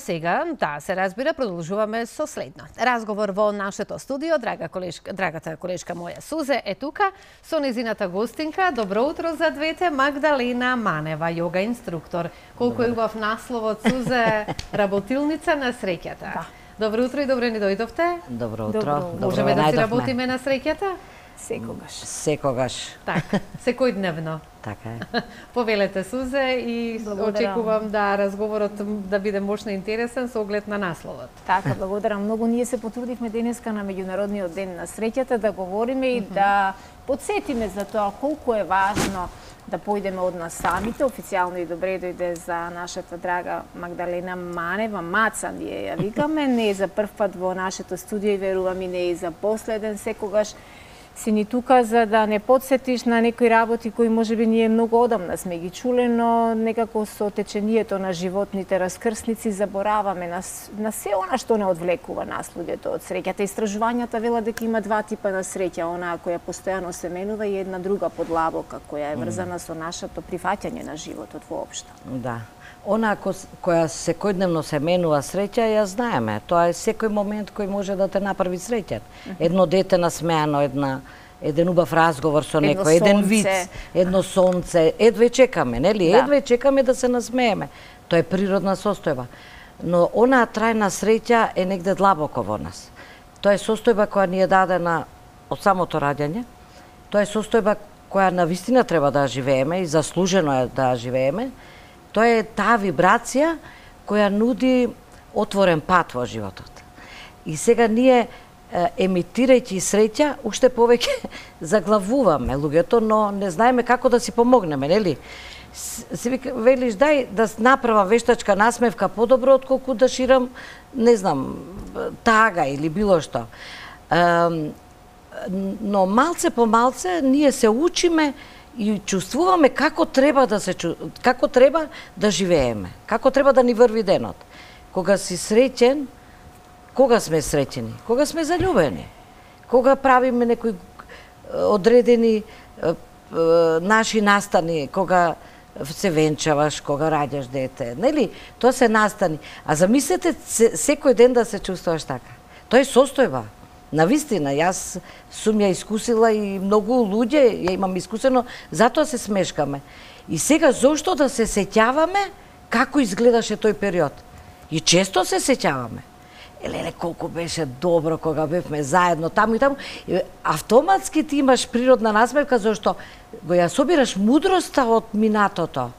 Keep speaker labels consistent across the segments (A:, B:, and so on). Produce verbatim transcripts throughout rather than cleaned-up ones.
A: Сега, да, се разбира, продолжуваме со следно. Разговор во нашето студио, драга колешка, драгата колешка моја Сузе е тука со незината гостинка. Добро утро за двете, Магдалена Манева, йога инструктор. Колку е убав насловот, Сузе, работилница на среќата. Да. Добро утро и добре ни дојдовте.
B: Добро утро.
A: Добро. Можеме да си работиме на среќата?
B: Секогаш. Секогаш.
A: Така, секојдневно.
B: Така е.
A: Повелете, Сузе, и благодарам. Очекувам да разговорот да биде мощно интересен со оглед на насловот.
C: Така, благодарам многу. Ние се потрудивме денеска на Меѓународниот ден на среќата да говориме и mm -hmm. да подсетиме за тоа колку е важно да појдеме од нас самите. Официјално и добре дојде за нашата драга Магдалена Манева. Маца ние ја викаме. Не е за прв пат во нашето студио и верувам и не е за последен. Секогаш си ни тука за да не подсетиш на некои работи кои можеби ние многу одамна сме ги чуле, но некако со течението на животните раскрсници забораваме на, на се она што не одвлекува нас луѓето од среќата. Истражувањата велат дека има два типа на среќа, онаа која постојано се менува и една друга подлабока која е врзана со нашето прифаќање на животот воопшто.
B: Да. Она која секојдневно се менува среќа, ја знаеме. Тоа е секој момент кој може да те направи среќен. Едно дете насмеано, една еден убав разговор со некој, еден виц, едно сонце, едве чекаме, нели? Да. Едве чекаме да се насмееме. Тоа е природна состојба. Но онаа трајна среќа е негде длабоко во нас. Тоа е состојба која ни е дадена од самото раѓање. Тоа е состојба која навистина треба да живееме и заслужено е да живееме. Тоа е таа вибрација која нуди отворен пат во животот. И сега ние, емитирајќи среќа, уште повеќе заглавуваме луѓето, но не знаеме како да си помогнеме, нели? Си велиш, дај да направам вештачка насмевка подобро, отколку да ширам, не знам, тага или било што. Но малце по малце ние се учиме и чувствуваме како треба да се како треба да живееме, како треба да ни врви денот. Кога си среќен, кога сме среќени? Кога сме заљубени. Кога правиме некои одредени наши настани, кога се венчаваш, кога раѓаш дете, нели? Тоа се настани. А замислете секој ден да се чувствуваш така. Тоа е состојба. Навистина, јас сум ја искусила и многу луѓе ја имам искусено, затоа се смешкаме. И сега зошто да се сеќаваме како изгледаше тој период? И често се сеќаваме. Елеле, колку беше добро кога бевме заедно таму и таму. Автоматски ти имаш природна насмевка, зашто го ја собираш мудроста од минатото.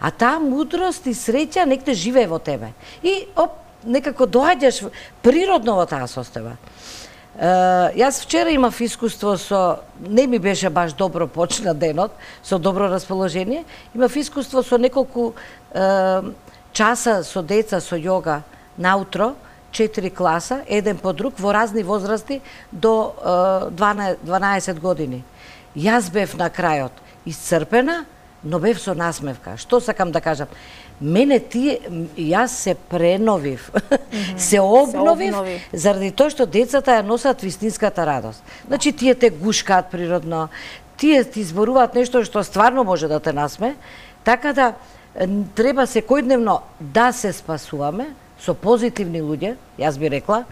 B: А таа мудрост и среќа некде живее во тебе. И оп, некако доаѓаш природно во таа состојба. Uh, јас вчера имав искуство со, не ми беше баш добро почна денот, со добро расположение, имав искуство со неколку uh, часа со деца со јога наутро, четири класа, еден по друг, во разни возрасти до uh, дванаесет години. Јас бев на крајот исцрпена, но бев со насмевка. Што сакам да кажам? Мене тие, јас се преновив, mm -hmm. се обновив, се обнови. Заради тоа што децата ја носат вистинската радост. Значи, тие те гушкаат природно, тие ти зборуваат нешто што стварно може да те насме, така да треба секојдневно да се спасуваме со позитивни луѓе, јас би рекла,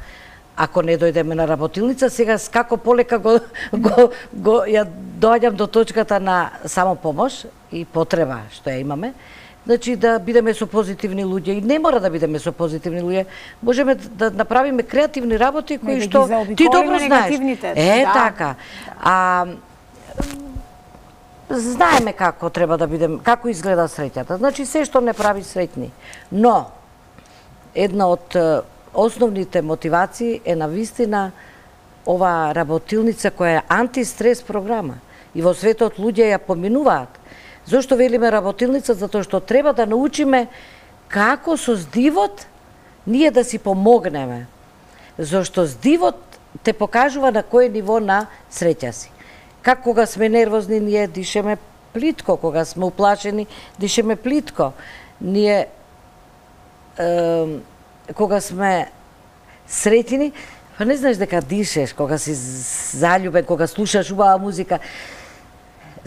B: ако не дојдеме на работилница, сега како полека го, го, го ја доаѓам до точката на самопомош и потреба што ја имаме. Значи да бидеме со позитивни луѓе и не мора да бидеме со позитивни луѓе. Можеме да направиме креативни работи кои што ти добро знаеш. Е, да. Така. А знаеме како треба да бидеме, како изгледа среќата. Значи се што не прави среќни. Но една од основните мотивации е навистина ова работилница која е антистрес програма. И во светот луѓе ја поминуваат. Зошто велиме работилница? Затоа што треба да научиме како со здивот ние да си помогнеме. Зошто здивот те покажува на кој ниво на среќа си. Как кога сме нервозни, ние дишеме плитко, кога сме уплашени, дишеме плитко. Ние, е, кога сме среќени, па не знаеш дека дишеш, кога си заљубен, кога слушаш убава музика,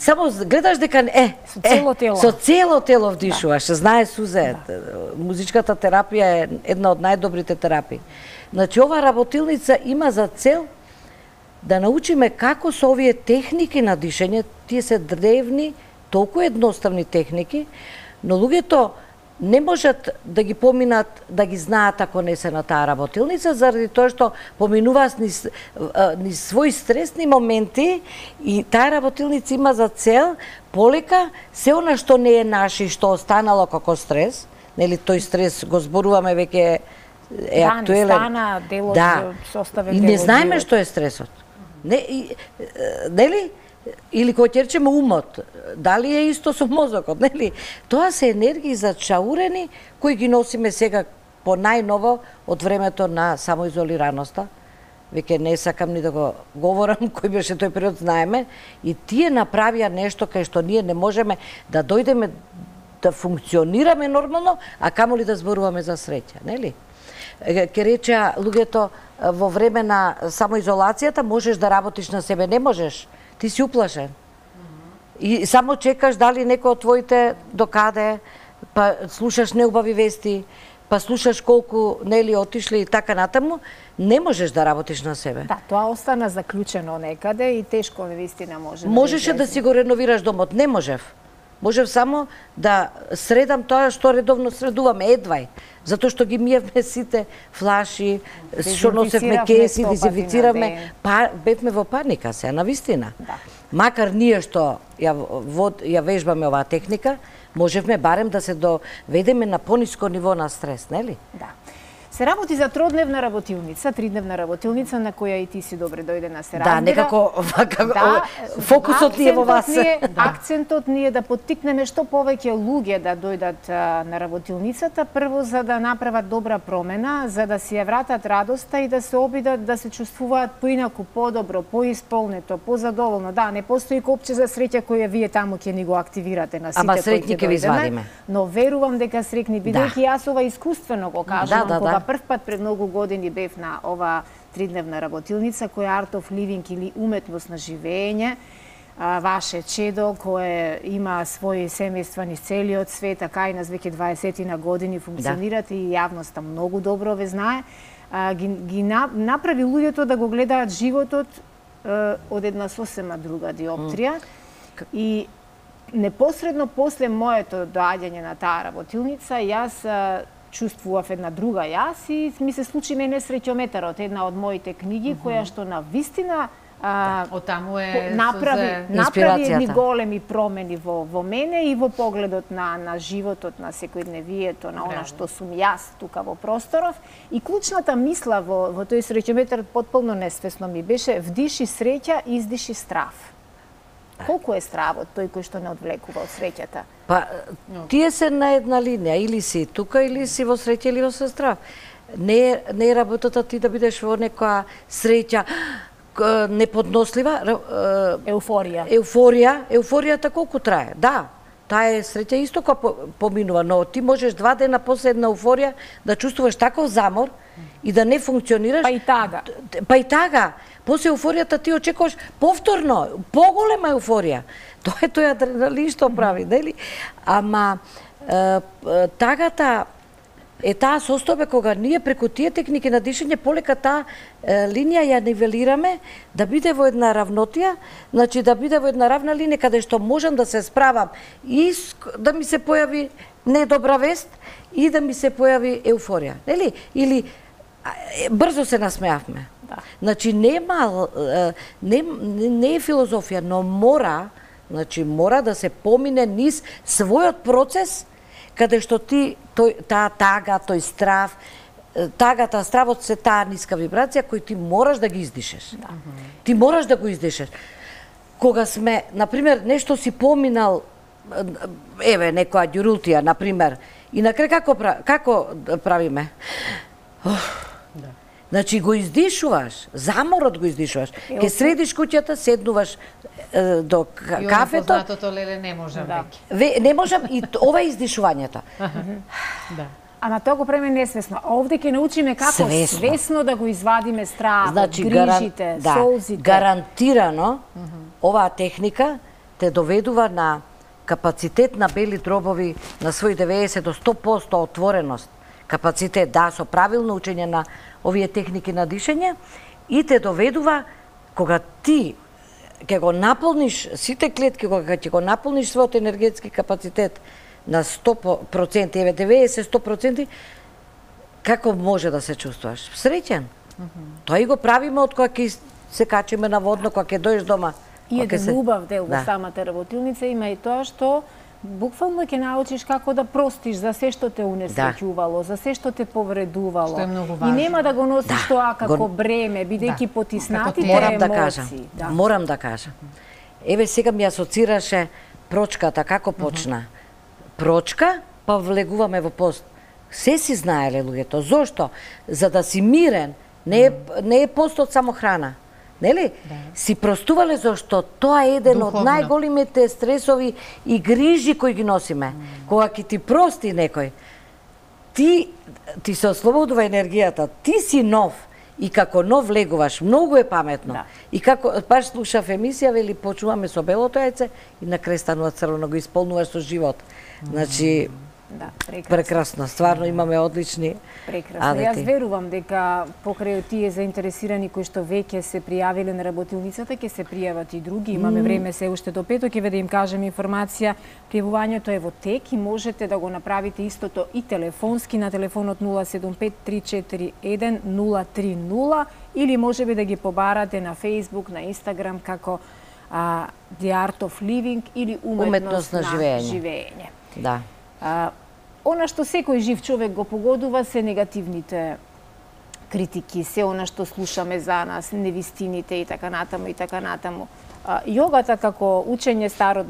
B: само гледаш дека е,
C: со цело тело.
B: Со цело тело вдишуваш. Да. Знае Сузе, да. Музичката терапија е една од најдобрите терапии. Значи ова работилница има за цел да научиме како со овие техники на дишење, тие се древни, толку едноставни техники, но луѓето не можат да ги поминат, да ги знаат ако не се на таа работилница, заради тоа што поминуваат ни, ни своји стресни моменти и таа работилница има за цел полека се она што не е наше и што останало како стрес, нели тој стрес го зборуваме веќе е
C: да,
B: актуелен.
C: Да, не стана дел од
B: да.
C: составен
B: и
C: дел
B: не знаеме
C: живот.
B: што е стресот. Не, и, нели? Или кој ќе речеме умот, дали е исто со мозокот, нели? Тоа се енергии зачаурени кои ги носиме сега по најново од времето на самоизолираноста. Веќе не сакам ни да го говорам кој беше тој период, знаеме, и тие направија нешто кај што ние не можеме да дојдеме да функционираме нормално, а камоли да зборуваме за среќа, нели? Ке речеа луѓето во време на самоизолацијата можеш да работиш на себе, не можеш. Ти си уплашен. И само чекаш дали некој од твоите докаде, па слушаш неубави вести, па слушаш колку нели отишли и така натаму, не можеш да работиш на себе.
C: Да, тоа остана заклучено некаде и тешко навистина може.
B: Можеше да си го реновираш домот, не можев. Можев само да средам тоа што редовно средуваме, едвај. Затоа што ги миевме сите флаши, што носевме кеси, дезинфициравме, па бевме во паника се, навистина. Да. Макар ние што ја, вод, ја вежбаме оваа техника, можевме барем да се доведеме на пониско ниво на стрес, нели?
C: Да. Се работи за тродневна работилница, тридневна работилница на која и ти си добре дојде на се разбира.
B: Да, некако како,
C: да,
B: фокусот ни е во вас.
C: Ни е, да. Акцентот ни е да поттикнеме што повеќе луѓе да дојдат а, на работилницата, прво за да направат добра промена, за да си ја вратат радоста и да се обидат да се чувствуваат поинаку, подобро, поисполнето, позадоволно. Да, не постои копче за среќа која вие таму ќе ни го активирате на сите.
B: Ама среќни ќе ви извадиме.
C: Но верувам дека среќни, бидејќи да. Јас ова искуствено го кажувам,
B: да, да,
C: кога
B: да.
C: прв пат пред многу години бев на ова тридневна работилница која Art of Living или уметност на живење, ваше чедо кое има своји семејства низ целиот свет, така и нас веќе дваесет на години функционират да. И јавноста многу добро ве знае, ги, ги направи луѓето да го гледаат животот од една сосема друга диоптрија mm. И непосредно после моето доаѓање на таа работилница, јас чувствував една друга јас и ми се случи мене среќометарот, една од моите книги, mm-hmm. која што на вистина а,
A: од таму е
C: направи, направи едни големи промени во, во мене и во погледот на, на животот, на секојдневието, на она што сум јас тука во просторов. И клучната мисла во, во тој среќометар потполно несвесно ми беше: вдиши среќа, издиши страв. Колку е стравот тој кој што не одвлекува од среќата?
B: Па, тие се на една линија, или си тука, или си во среќа, или во страв. Не, не е работата ти да бидеш во некоја среќа неподнослива.
C: Еуфорија.
B: Еуфорија, еуфоријата колку трае? Да, таа е среќа исто која поминува, но ти можеш два дена после една еуфорија да чувствуваш таков замор и да не функционираш.
C: Па и тага.
B: Па и тага. После еуфоријата ти очекуваш повторно, поголема еуфорија. Тоа е тој адреналин што прави, нели? Ама е, тагата е таа состојба кога ние преку тие техники на дишење полека таа е, линија ја нивелираме да биде во една равнотија, значи да биде во една равна линија каде што можам да се справам и да ми се појави недобра вест и да ми се појави еуфорија, нели? Или брзо се насмеавме. Да. Значи нема не, не е филозофија, но мора, значи мора да се помине низ својот процес каде што ти тој таа тага, тој страв, тагата, стравот се таа ниска вибрација кој ти мораш да ги издишеш. Да. Ти мораш да го издишеш. Кога сме, например, нешто си поминал, еве некоја ѓурултија, например, и на крај како како правиме? Да. Значи го издишуваш, заморот го издишуваш. Ке средиш куќата, седнуваш е, до кафето. И оно
A: познатото леле не можам
C: да.
A: веќе.
B: Не можам и ова е издишувањето.
A: Да.
C: Ама тоа го правиме несвесно. А овде ќе научиме како свесно, свесно да го извадиме стравот,
B: значи,
C: грижите,
B: гаран...
C: солзите.
B: Да, гарантирано оваа техника те доведува на капацитет на бели дробови на свој деветдесет до сто проценти отвореност, капацитет, да, со правилно учење на овие техники на дишење, и те доведува кога ти ќе го наполниш сите клетки, кога ќе го наполниш својот енергетски капацитет на сто проценти, еве деветдесет до сто проценти, како може да се чувствуваш? Среќен. Mm -hmm. Тоа и го правиме од кога ќе се качиме на водно, кога ќе дојдеш дома.
C: И еден
B: се...
C: убав дел во
B: да.
C: самата работилница има и тоа што буквално ќе научиш како да простиш за се што те унесреќувало, да. за се што те повредувало.
A: Што е многу важно.
C: И нема да го носиш
B: да.
C: тоа како
B: го...
C: бреме, бидејќи да. потиснатите
B: морам
C: емоции.
B: Да кажам, да. Морам да кажам. Еве сега ми асоцираше прочката, како почна. Uh -huh. Прочка, па влегуваме во пост. Се си знаеле луѓето. Зошто? За да си мирен, не е, не е постот само храна. Нели? Да. Си простувале зашто тоа е еден Духовно. од најголемите стресови и грижи кои ги носиме. Mm. Кога ќе ти прости некој, ти ти се ослободува енергијата, ти си нов и како нов влегуваш, многу е паметно. Да. И како баш слушав емисија, вели почуваме со белото јајце и на крај станува црвено, го исполнуваш со живот. Mm. Значи
C: Да, прекрасно.
B: Прекрасно, стварно имаме одлични
C: Прекрасно.
B: адети.
C: Јас верувам дека покрај тие заинтересирани кои што веќе се пријавиле на работилницата, ќе се пријават и други. Имаме mm. време се уште до петок, ќе да им кажем информација. Пријавувањето е во тек и можете да го направите истото и телефонски на телефонот нула седум пет три четири еден нула три нула или можеби да ги побарате на Facebook, на Instagram како а, The Art of Living или уметност, уметност на, на живење. живење.
B: Да.
C: А, она што секој жив човек го погодува се негативните критики, се она што слушаме за нас, невистините и така натаму и така натаму. А, јогата како учење старо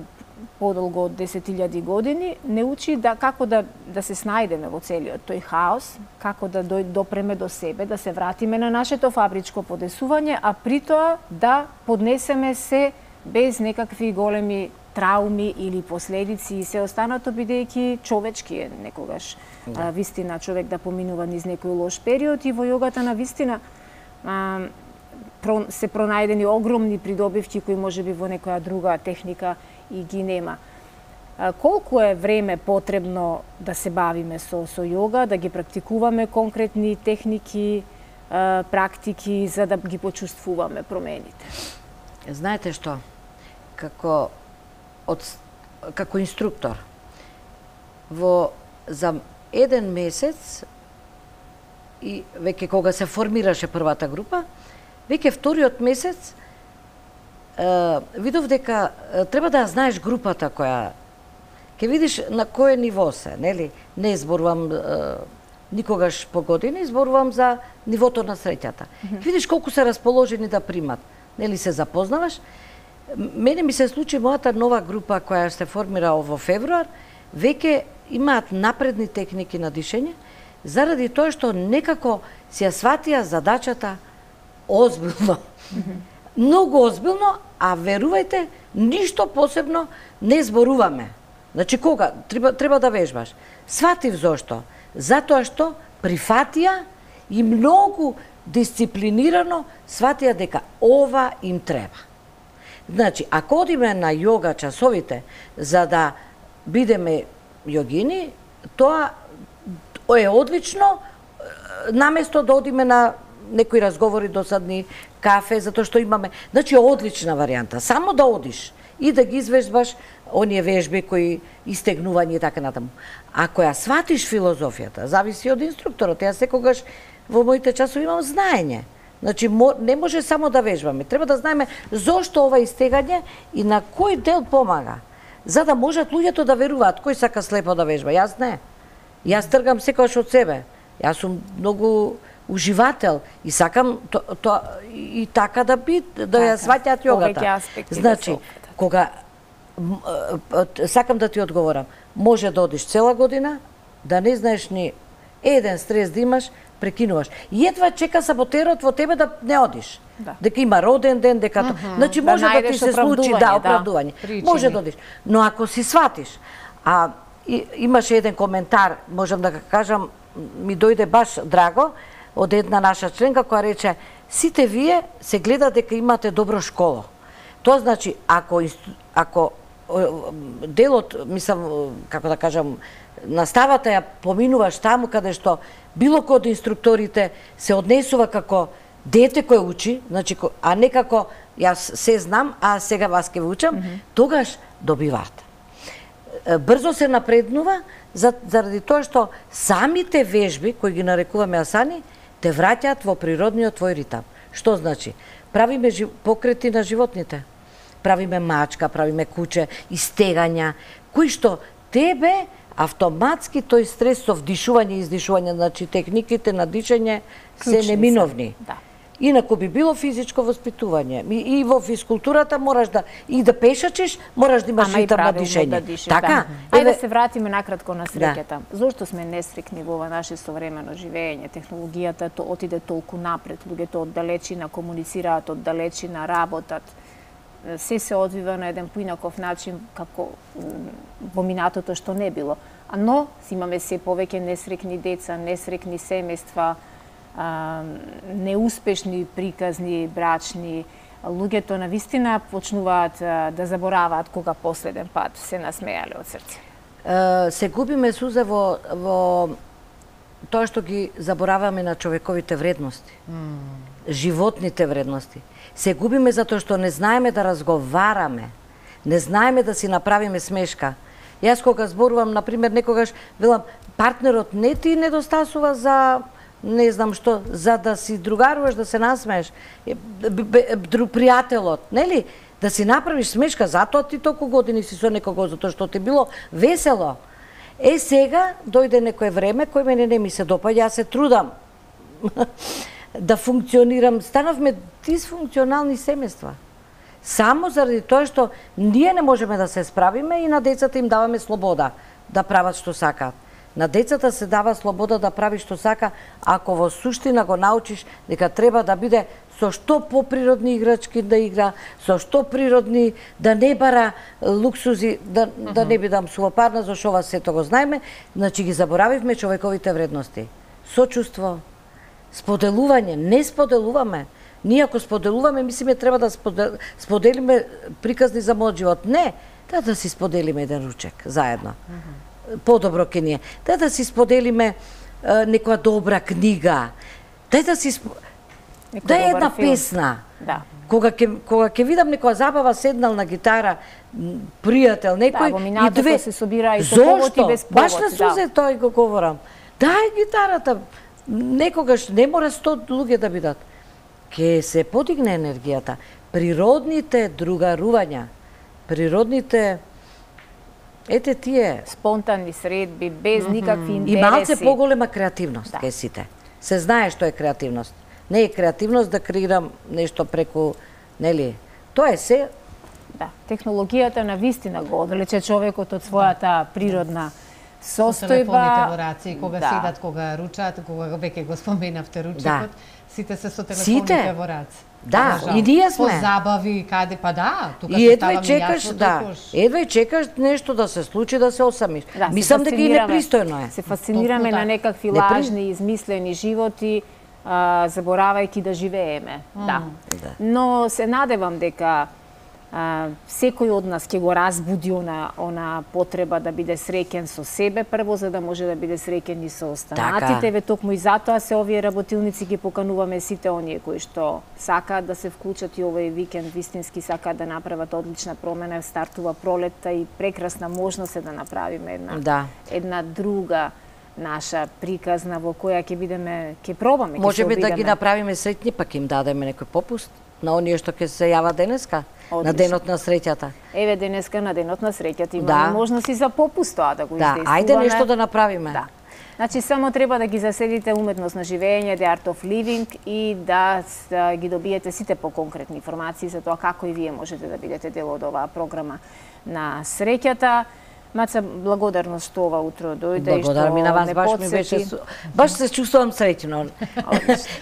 C: подолго од десет илјади години не учи да како да да се снајдеме во целиот тој хаос, како да дој, допреме до себе, да се вратиме на нашето фабричко подесување, а при тоа да поднесеме се без некакви големи трауми или последици и се останато, бидејќи човечки е некогаш да. а, вистина човек да поминува низ некој лош период и во јогата на вистина а, про, се пронајдени огромни придобивки кои можеби во некоја друга техника и ги нема. А, колку е време потребно да се бавиме со, со јога, да ги практикуваме конкретни техники, а, практики за да ги почувствуваме промените?
B: Знаете што? Како од, како инструктор во за еден месец и веќе кога се формираше првата група, веќе вториот месец е, видов дека е, треба да знаеш групата која ќе видиш на кое ниво се, нели? Не зборувам е, никогаш по години, зборувам за нивото на среќата. Mm -hmm. Видиш колку се расположени да примат, нели се запознаваш. Мене ми се случи мојата нова група која се формира во февруар, веќе имаат напредни техники на дишење, заради тоа што некако си ја сватија задачата озбилно. Mm-hmm. Многу озбилно, а верувајте, ништо посебно не зборуваме. Значи кога? Треба, треба да вежбаш. Сватив зошто? Затоа што прифатија и многу дисциплинирано сватија дека ова им треба. Значи, ако одиме на јога часовите за да бидеме јогини, тоа е одлично, наместо да одиме на некои разговори досадни, кафе, затоа што имаме... Значи, одлична варијанта. Само да одиш и да ги извежбаш оние вежби кои истегнување и така натаму. Ако ја сватиш филозофијата, зависи од инструкторот. Јас секогаш во моите часови имам знаење. Значи, не може само да вежбаме. Треба да знаеме зошто ова истегање и на кој дел помага. За да можат луѓето да веруваат. Кој сака слепо да вежба? Јас не. Јас тргам секогаш од себе. Јас сум многу уживател и сакам то, то, и така да би, да ја сваќаат јогата. Значи, кога сакам да ти одговорам, може да одиш цела година, да не знаеш ни еден стрес да имаш, прекинуваш. И едва чека саботерот во тебе да не одиш. Да. Дека има роден ден, дека uh -huh. Значи може да, да ти се случи, да, оправдување. Да. Може да одиш. Но ако си сватиш, а и, имаше еден коментар, можам да кажам, ми дојде баш драго од една наша членка која рече: сите вие се гледа дека имате добро школо. Тоа значи, ако ако делот, мислам, како да кажам, наставата ја поминуваш таму каде што било кој од инструкторите се однесува како дете кој учи, значи, а не како јас се знам, а сега вас ќе ви учам, mm -hmm. тогаш добиваат. Брзо се напреднува заради тоа што самите вежби, кои ги нарекуваме асани, те враќаат во природниот твој ритам. Што значи? Правиме покрети на животните. Правиме мачка, правиме куче, истегања, кои што тебе автоматски тој стрес со вдишување и издишување, значи техниките на дишење се неминовни. Да. Инаку би било физичко воспитување. И во физкултурата мораш да и да пешачиш, мораш да имаш ритам на дишење. Да дишиш,
C: така? Да. Ајде да се вратиме накратко на среќата. Да. Зошто сме несрекни во ова наше современо живење? Технологијата то отиде толку напред, луѓето од далечина комуницираат, од далечина работат. Се се одвива на еден поинаков начин како во минатото што не било. Но имаме се повеќе несрекни деца, несрекни семејства, неуспешни приказни брачни, луѓето навистина почнуваат да забораваат кога последен пат се насмеале од срце.
B: Се губиме, Суза, во, во тоа што ги забораваме на човековите вредности, mm. животните вредности. Се губиме затоа што не знаеме да разговараме, не знаеме да си направиме смешка. Јас кога зборувам, например, некогаш велам, партнерот не ти недостасува за не знам што, за да си другаруваш, да се насмееш, пријателот, нели? Да си направиш смешка, затоа ти толку години си со некого, затоа што ти било весело. Е, сега дојде некое време кој мене не ми се допаѓа, јас се трудам да функционирам. Станавме дисфункционални семејства. Само заради тоа што ние не можеме да се справиме и на децата им даваме слобода да прават што сакаат. На децата се дава слобода да прави што сака, ако во суштина го научиш дека треба да биде со што поприродни играчки да игра, со што природни, да не бара луксузи, да, mm -hmm. да не бидам сувопарна, зашто ова сето го знаеме, значи ги заборавивме човековите вредности. Сочувство, споделување, не споделуваме. Ние ако споделуваме, мислиме треба да сподел... споделиме приказни за мојот живот. Не, да да си споделиме еден ручек заедно. Mm -hmm. Подобро ке ние. Да да си споделиме е, некоја добра книга. Да да си сп... да е една филм. Песна. Да. Кога ќе кога ќе видам некоја забава седнал на гитара, пријател, некој
C: да, во минатото и две се собира и со повод и без повод.
B: Баш на Сузе да. Тој го говорам. Дај гитарата. Некогаш не мора сто луѓе да бидат. Ке се подигне енергијата. Природните другарувања, природните ете тие
C: спонтанни средби без mm -hmm. никакви интереси
B: и малце поголема креативност кај да. Сите. Се знае што е креативност. Не е креативност да креирам нешто преку, нели? Тоа е се.
C: Да, технологијата на вистина го одлече човекот од својата природна состојба. Со
A: телефоните во раци, кога да. Седат, кога ручаат, кога веќе го споменавте ручекот, да. Сите се со телефоните сите. Во раци.
B: Да, да, и ние сме.
A: По забави, каде, па да, тука
B: и едва чекаш, да, едва чекаш нешто да се случи, да се осамиш. Да, мислам дека и непристојно е.
C: Се фасцинираме на некакви Непри... лажни, измислени животи, а, заборавајќи да живееме. Mm. Да. да. Но се надевам дека а, секој од нас ќе го разбуди она, она потреба да биде среќен со себе прво, за да може да биде среќен и со останатите. Ве токму и затоа се овие работилници ги покануваме сите оние кои што сакаат да се вклучат и овој викенд, вистински сакаат да направат одлична промена, стартува пролетта и прекрасна можност е да направиме една, да. една друга наша приказна во која ќе бидеме, ќе пробаме, ќе
B: може би да ги направиме среќни, пак им дадеме некој попуст на оние што ќе се јава денеска. Одлично. На денот на среќата.
C: Еве денеска на денот на среќата имаме да. Можност и за попуст тоа да го
B: да.
C: издействуваме.
B: Ајде нешто да направиме.
C: Да. Значи само треба да ги заседите уметност на живење, The Art of Living и да, да ги добиете сите поконкретни информации за тоа како и вие можете да бидете дел од оваа програма на среќата. Маца, благодарност што ова утро дојде и што
B: ми на вас, баш ми беше баш се чувствувам среќно.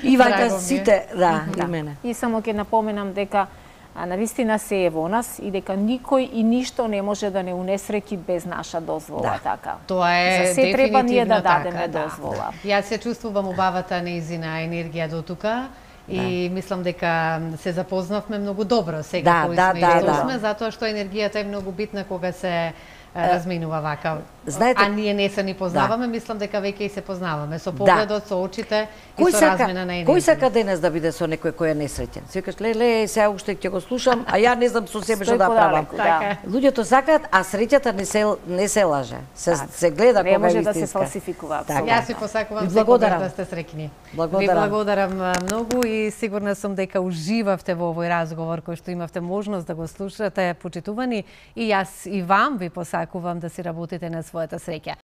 B: И вака сите, да, да, и мене.
C: И само ќе напоменам дека навистина се е во нас и дека никој и ништо не може да не унесреќи без наша дозвола, да. Така.
A: Тоа е
C: за се треба ние да
A: така,
C: дадеме да. дозвола.
A: Јас се чувствувам убавата неизина енергија до тука И мислам дека се запознавме многу добро сега
B: Да,
A: кои
B: да,
A: сме
B: да,
A: и што
B: да.
A: сме, затоа што енергијата е многу битна кога се разминува вака.
B: Знаете-
A: А ние не се ни познаваме, мислам дека веќе и се познаваме со
B: Да.
A: погледот, со очите и
B: Кој
A: со
B: сака,
A: размена на енергија.
B: кој сака денес да биде со некој кој е несреќен? Си кажеш, леле, сега уште ќе го слушам, а ја не знам со себе што
C: Стои
B: да правам.
C: подалеку,
A: Така
C: да.
A: е.
B: Луѓето сакаат, а среќата не се не се лаже. Се
C: Така.
B: се гледа
C: Не
B: кога
C: може
B: е
C: да се
B: вистинска.
C: фалсификува
B: Така.
C: апсолутно.
A: Јас ви посакувам
B: Ви
A: секогаш
B: благодарам.
A: да сте среќни.
B: Благодарам.
A: Ви благодарам а, многу и сигурна сум дека уживавте во овој разговор кој што имавте можност да го слушате, почитувани, и јас и вам ви посакувам да си работите на својата среќа.